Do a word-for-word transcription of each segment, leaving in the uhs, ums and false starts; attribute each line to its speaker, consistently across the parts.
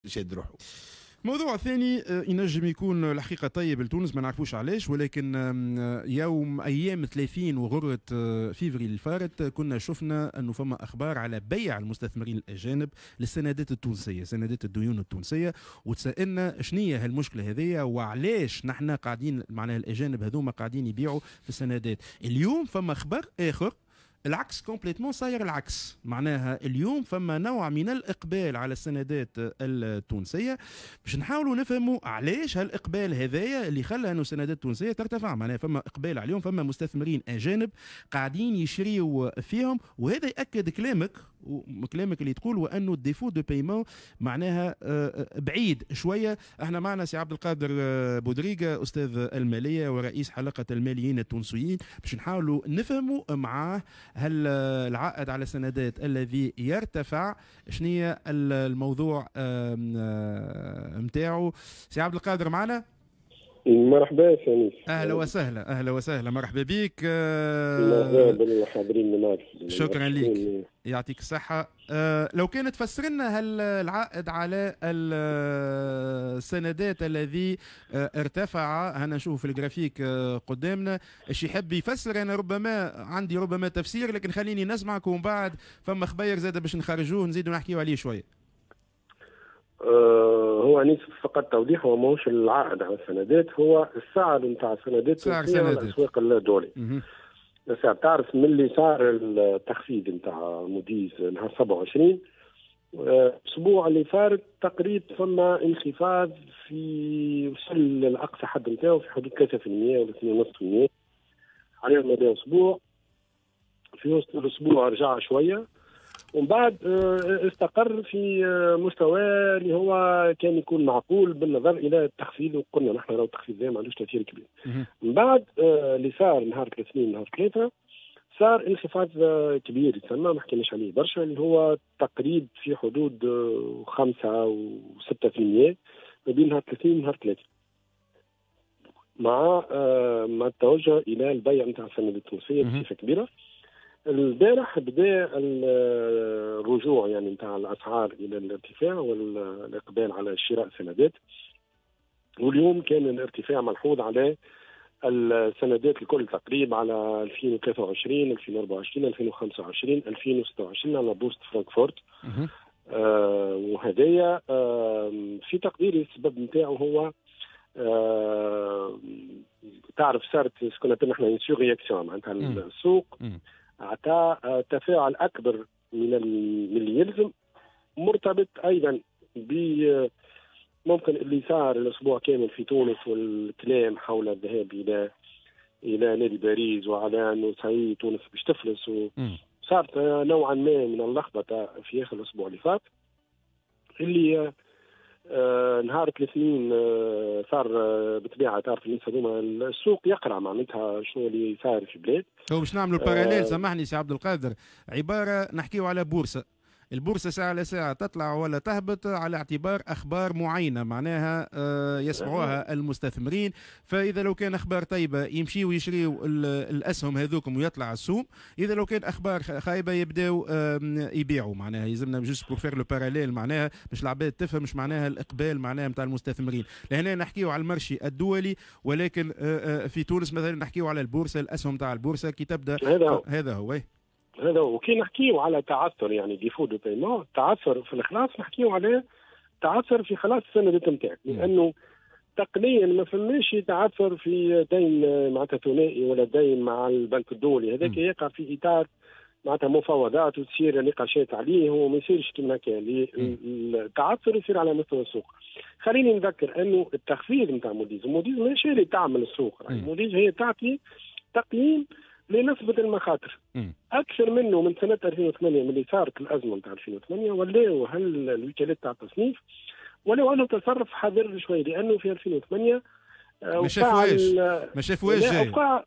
Speaker 1: شاد روحه.
Speaker 2: موضوع ثاني آه، ينجم يكون الحقيقة طيب لتونس، ما نعرفوش علاش، ولكن آه، يوم ايام ثلاثين وغره آه، فيفري الفارت كنا شفنا انه فما اخبار على بيع المستثمرين الاجانب للسندات التونسيه، سندات الديون التونسيه، وتسالنا شنية هالمشكلة هذيا وعلاش نحن قاعدين معناها الاجانب هذوما قاعدين يبيعوا في السندات. اليوم فما خبر اخر العكس complètement، صاير العكس، معناها اليوم فما نوع من الاقبال على السندات التونسيه. باش نحاولوا نفهموا علاش هالاقبال هذايا اللي خلى انه السندات التونسية ترتفع، معناها فما اقبال عليهم، فما مستثمرين اجانب قاعدين يشريوا فيهم، وهذا ياكد كلامك وكلامك اللي تقول وانه ال défaut de paiement معناها آه، آه، بعيد شويه. احنا معنا سي عبد القادر آه، بودريقه، استاذ المالية ورئيس حلقة الماليين التونسيين، باش نحاولوا نفهموا معاه هل العائد على السندات الذي يرتفع شنو الموضوع نتاعو. سي عبد القادر معنا؟
Speaker 3: مرحبا سامي.
Speaker 2: اهلا وسهلا، اهلا وسهلا، مرحبا بك.
Speaker 3: مرحبا بالحاضرين معك.
Speaker 2: شكرا لك، يعطيك الصحة. أه لو كانت تفسر لنا هل العائد على السندات الذي آه، ارتفع، هنا نشوف في الجرافيك آه، قدامنا، ايش يحب يفسر؟ انا ربما عندي ربما تفسير، لكن خليني نسمعك ومن بعد فما خبير زاد باش نخرجوه نزيدوا نحكيو عليه شوية.
Speaker 3: آه، هو أنيس فقط توضيح، هو ماهوش العائد على السندات، هو السعر نتاع السندات
Speaker 2: سعر
Speaker 3: على الاسواق الدولي. السعر تعرف من اللي صار التخفيض نتاع موديز نهار سبعة وعشرين، الاسبوع اللي فات تقريبا فما انخفاض في وصل لاقصى حد نتاعو في حدود ثلاثة في المية ولا اثنين ونص في المية على مدى اسبوع. في وسط الاسبوع رجع شوية ومن بعد آه، استقر في آه، مستوى اللي هو كان يكون معقول بالنظر الى التخفيض، وقلنا نحن راهو التخفيض ما عندوش تاثير كبير. من بعد آه، اللي صار نهار الاثنين نهار ثلاثة صار انخفاض كبير يتسمى ما حكيناش عليه برشا، اللي هو تقريب في حدود خمسة وستة في المية ما بين نهار ثلاثين ونهار ثلاثة، مع مع التوجه الى البيع نتاع السندات التونسية بصفة كبيره. البارح بدا الرجوع يعني نتاع الاسعار الى الارتفاع والاقبال على شراء السندات، واليوم كان الارتفاع ملحوظ على السندات الكل تقريبا على ألفين وثلاثة وعشرين، ألفين وأربعة وعشرين، ألفين وخمسة وعشرين، ألفين وستة وعشرين على بورصة فرانكفورت. آه وهدايا آه في تقديري السبب نتاعو هو آه تعرف صارت ce qu'on appelle نحن surréaction، معناتها السوق اعطى تفاعل اكبر من من اللي يلزم، مرتبط ايضا ب ممكن اللي صار الاسبوع كامل في تونس والكلام حول الذهاب الى الى نادي باريس وعلى انه صحيح تونس باش تفلس، وصارت نوعا ما من اللخبطة في اخر الاسبوع اللي فات، اللي آه نهار الاثنين آه صار آه بالطبيعة تعرف الناس هذوما السوق يقرا معناتها شنو اللي صار في البلاد.
Speaker 2: هو باش نعملوا parallèle، سامحني سي عبد القادر، عبارة نحكيو على بورصه، البورصة ساعة على ساعة تطلع ولا تهبط على اعتبار أخبار معينة معناها آه، يسمعوها المستثمرين، فإذا لو كان أخبار طيبة يمشيوا يشريوا الأسهم هذوكم ويطلع السوم، إذا لو كان أخبار خايبة يبداو يبيعوا. معناها يلزمنا juste pour faire le parallèle، معناها باش العباد تفهم مش معناها الإقبال معناها نتاع المستثمرين. لهنا نحكيو على ال marché الدولي، ولكن آه، آه، في تونس مثلا نحكيو على البورصة، الأسهم تاع البورصة كي تبدا.
Speaker 3: هذا هو.
Speaker 2: هذا هو.
Speaker 3: هذا هو. وكي نحكيو على تعثر يعني défaut de paiement، تعثر في الخلاص، نحكيو على تعثر في خلاص السندات نتاعك، لانه تقنيا ما فماش تعثر في دين معناتها ثنائي ولا دين مع البنك الدولي، هذاك يقع في اطار معناتها مفاوضات وتصير نقاشات عليه وما يصيرش كما كان التعثر يصير على مستوى السوق. خليني نذكر انه التخفيض نتاع موديز، موديز ماشي اللي تعمل السوق، موديز هي تعطي تقييم لنسبة المخاطر. أكثر منه من سنة ألفين وثمانية من اللي صارت الأزمة نتاع ألفين وثمانية ولاو هل الوكالات تاع التصنيف ولو أنه تصرف حذر شوي، لأنه في ألفين وثمانية
Speaker 2: آه، ما شافوهاش، ما شافوهاش.
Speaker 3: جاي وقع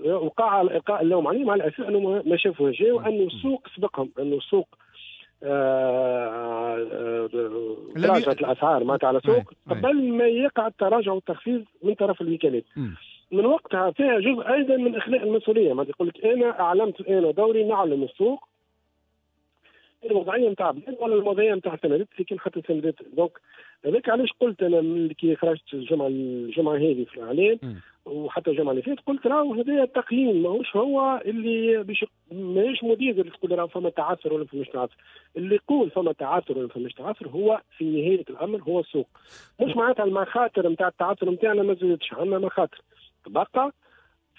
Speaker 3: وقع القاء اللوم عليهم على اساس انه ما شافوهاش جاي وانه السوق سبقهم، انه السوق آه، آه، تراجعت الاسعار معناتها على السوق قبل ما يقع التراجع والتخفيض من طرف الوكالات. من وقتها فيها جزء ايضا من اخلاء المسؤوليه، ما يقول لك انا اعلمت، انا دوري نعلم السوق. الوضعية نتاع بلاد ولا الوضعية نتاع السندات اللي كان حتى السندات. donc هذاك علاش قلت انا كي خرجت الجمعة الجمعة هذه في الاعلام وحتى الجمعة اللي فاتت قلت راهو هذا التقييم ماهوش هو اللي باش ماهيش موديز اللي تقول راهو فما تعثر ولا فماش تعثر. اللي يقول فما تعثر ولا فماش تعثر هو في نهاية الامر هو السوق، مش معناتها المخاطر نتاع التعثر نتاعنا ما زادتش، عندنا مخاطر تبقى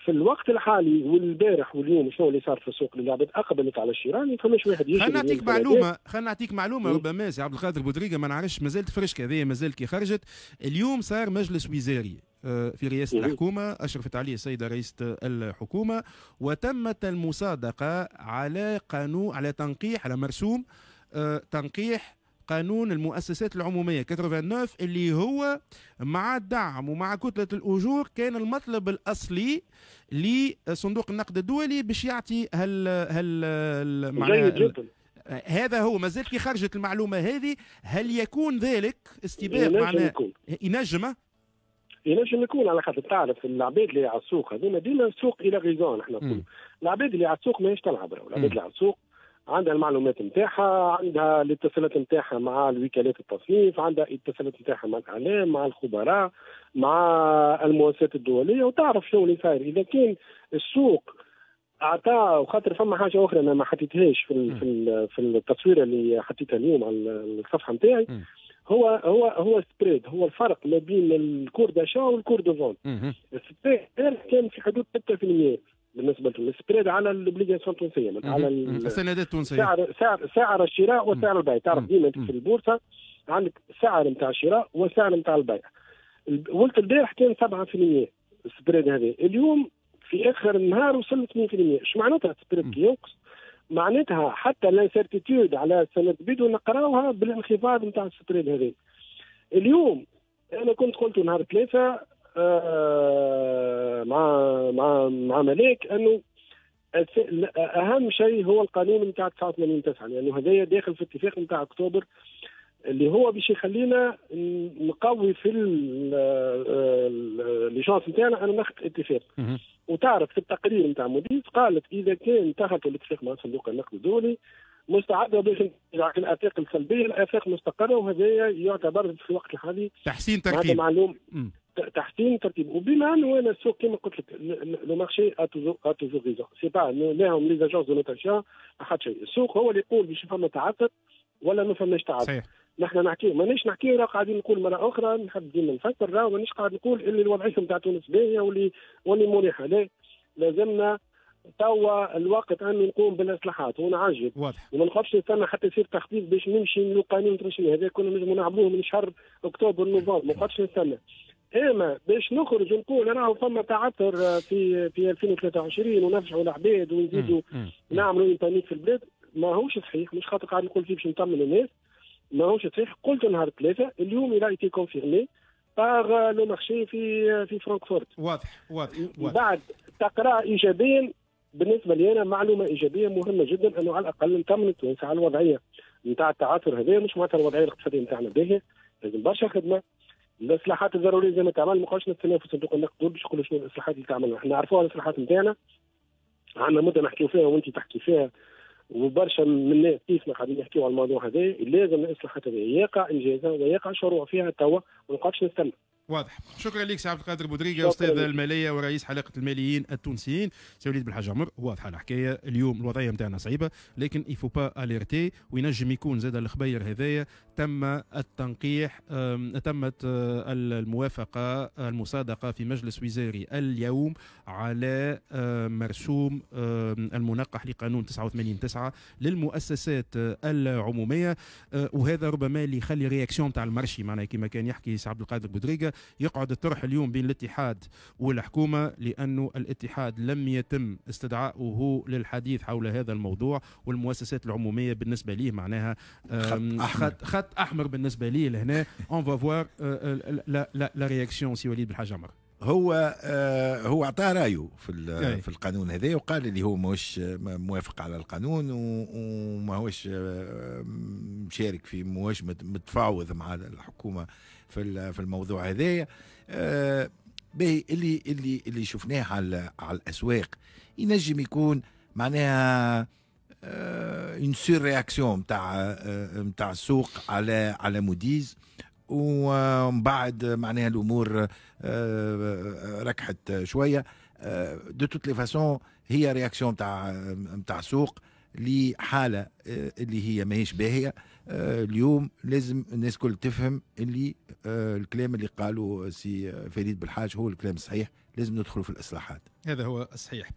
Speaker 3: في الوقت الحالي. والبارح واليوم شنو اللي صار في السوق؟ اللي العباد اقبلت على الشراء، ما فماش واحد يشري.
Speaker 2: خلينا نعطيك معلومة، خلينا نعطيك معلومة ربما سي عبد القادر بودريقه ما نعرفش مازالت فرشكه هذه مازالت كي خرجت اليوم. صار مجلس وزاري في رئاسة الحكومة أشرفت عليه السيدة رئيسة الحكومة، وتمت المصادقة على قانون، على تنقيح، على مرسوم تنقيح قانون المؤسسات العمومية تسعة وثمانين اللي هو مع الدعم ومع كتلة الأجور كان المطلب الأصلي لصندوق النقد الدولي باش يعطي هل هل معناها هذا هو. ما زالت كي خرجت المعلومة هذه، هل يكون ذلك استباق معناها ينجم
Speaker 3: ينجم يكون؟ على خاطر تعرف العباد اللي على السوق هذوما ديما السوق il a raison. نحن نقولوا العباد اللي على السوق ماهيش تلعب، العباد اللي على السوق عندها المعلومات نتاعها، عندها الاتصالات نتاعها مع الوكالات التصنيف، عندها الاتصالات نتاعها مع الاعلام، مع الخبراء، مع المؤسسات الدولية، وتعرف شنو اللي صاير. اذا كان السوق اعطاه، وخاطر فما حاجة اخرى انا ما حطيتهاش في في في التصويره اللي حطيتها اليوم على الصفحة نتاعي، هو هو هو spread، هو الفرق ما بين ال cours d'achat وال cours de vente. ال spread كان في حدود ستة بالمئة بالنسبة لل spread على ال obligations التونسية، على
Speaker 2: السندات التونسية،
Speaker 3: سعر سعر سعر الشراء وسعر البيع. تعرف ديما في البورصة عندك سعر نتاع الشراء وسعر نتاع البيع. ولت البارح كان سبعة بالمئة ال spread هذا، اليوم في اخر النهار وصل اثنين بالمئة. اش معناتها ال spread كي ينقص؟ معناتها حتى l'incertitude على السند بيدو نقراوها بالانخفاض نتاع ال spread هذا. اليوم انا كنت قلت نهار ثلاثة آه مع مع مع ملاك انه اهم شيء هو القانون نتاع تسعة وثمانين تسعة، لانه هذايا داخل في اتفاق نتاع اكتوبر اللي هو باش يخلينا نقوي في les chances نتاعنا ان ناخذ اتفاق. وتعرف في التقرير نتاع موديز قالت اذا كان تاخذ الاتفاق مع صندوق النقد الدولي مستعدة باش الافاق السلبية الافاق مستقره، وهذا يعتبر في الوقت الحالي
Speaker 2: تحسين ترتيب
Speaker 3: معلوم تحسين ترتيب. وبما انه انا السوق كما قلت لك le marché a toujours a toujours raison، c'est pas لاهم les agences de notation حتى شيء، السوق هو اللي يقول باش فما تعثر ولا ما فماش تعثر. نحن نحكي مانيش نحكي راه قاعدين نقول مرة اخرى، نحب ديما نفكر راه مانيش قاعد نقول اللي الوضعية نتاع تونس باهيه واللي واللي مريحه، لا لازمنا توا الوقت ان نقوم بالاصلاحات ونعجل
Speaker 2: واضح،
Speaker 3: وما نخافش نستنى حتى يصير تخفيض باش نمشي للقانون ترشني هذا كنا نجموا نعملوه من شهر اكتوبر نوفمبر، ما نقعدش نستنى. اما باش نخرج ونقول راهو فما تعثر في في ألفين وثلاثة وعشرين ونرجعوا العباد ونزيدوا نعملوا panique في البلاد، ماهوش صحيح. مش خاطر قاعد نقول فيه باش نطمن الناس، ماهوش صحيح. قلت نهار ثلاثة، اليوم il a été confirmé par le marché في في فرانكفورت.
Speaker 2: واضح واضح واضح.
Speaker 3: بعد تقرا ايجابيا بالنسبة لي انا معلومة ايجابية مهمة جدا، انه على الاقل نطمن التوانسة على الوضعية نتاع التعثر هذا. مش معناتها الوضعية الاقتصادية نتاعنا باهيه، لازم برشا خدمة. الاصلاحات الضرورية زي ما تعمل، ما نبقاوش نستناو في صندوق النقد باش يقولوا شنو الاصلاحات اللي تعملها. احنا نعرفوها الاصلاحات نتاعنا، عندنا مده نحكيو فيها وانت تحكي فيها وبرشا من الناس كيفنا قاعدين يحكيو على الموضوع هذا. لازم الاصلاحات هذه يقع انجازها ويقع شروع فيها توا، وما نقعدش نستنى.
Speaker 2: واضح. شكرا لك سي عبد القادر بودريقه، استاذ المالية ورئيس حلقة الماليين التونسيين. سي وليد بالحاج عمر، واضحة الحكاية اليوم، الوضعية نتاعنا صعيبة، لكن il faut pas alerter، وينجم يكون زاد الخبير هذايا تم التنقيح، تمت الموافقة المصادقة في مجلس وزاري اليوم على مرسوم المنقح لقانون تسعة وثمانين تسعة للمؤسسات العمومية، وهذا ربما اللي يخلي réaction تاع ال marché، معناها كما كان يحكي سي عبد القادر بودريقه، يقعد الطرح اليوم بين الاتحاد والحكومة، لأنه الاتحاد لم يتم استدعاؤه للحديث حول هذا الموضوع، والمؤسسات العمومية بالنسبة ليه معناها
Speaker 1: خط أحمر,
Speaker 2: خط, خط أحمر بالنسبة ليه. لهنا on va voir la la la réaction سي وليد بالحاج عمر.
Speaker 1: هو آه هو اعطى رايه في في القانون هذا، وقال اللي هو ماهوش موافق على القانون وماهوش مشارك في، ماهوش متفاوض مع الحكومة في في الموضوع هذايا. آه باهي اللي اللي اللي شفناه على على الاسواق ينجم يكون معناها une surréaction نتاع نتاع السوق على على موديز، ومن بعد معناها الامور آه، ركحت شويه. de toutes les façons هي réaction نتاع نتاع السوق لحاله آه، اللي هي ماهيش باهيه. آه، اليوم لازم الناس الكل تفهم اللي الكلام اللي قالوا سي فريد بالحاج هو الكلام الصحيح، لازم ندخلوا في الاصلاحات.
Speaker 2: هذا هو الصحيح.